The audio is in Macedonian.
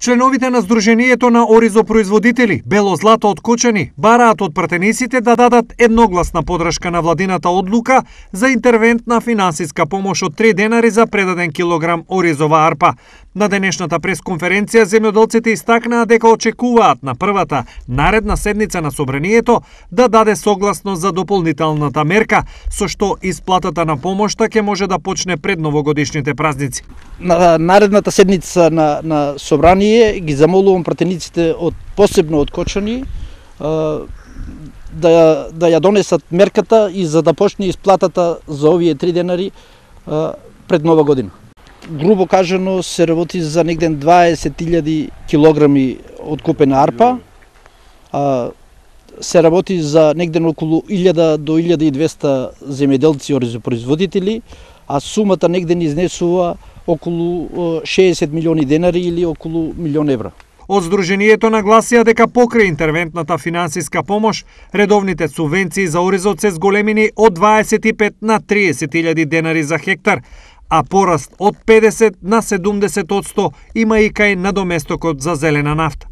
Членовите на Сдруженијето на оризопроизводители Бело злато од Кочани бараат од пратениците да дадат едногласна подршка на владината одлука за интервентна финансиска помош од 3 денари за предаден килограм оризова арпа. На денешната пресконференција земјоделците истакнаа дека очекуваат на првата наредна седница на Собранието да даде согласност за дополнителната мерка, со што исплатата на помошта ќе може да почне пред новогодишните празници. На наредната седница на Собрание ги замолувам пратениците посебно од Кочани да ја донесат мерката и за да почне исплатата за овие 3 денари пред Нова година. Грубо кажано се работи за негден 20.000 килограми откупена арпа, се работи за негден околу 1000 до 1200 земјоделци оризопроизводители, а сумата негден изнесува околу 60 милиони денари или околу милион евра. Од Сдруженијето нагласија дека покрај интервентната финансиска помош, редовните субвенции за оризот се зголемени од 25 на 30.000 денари за хектар, а пораст од 50 на 70% има и кај надоместокот за зелена нафта.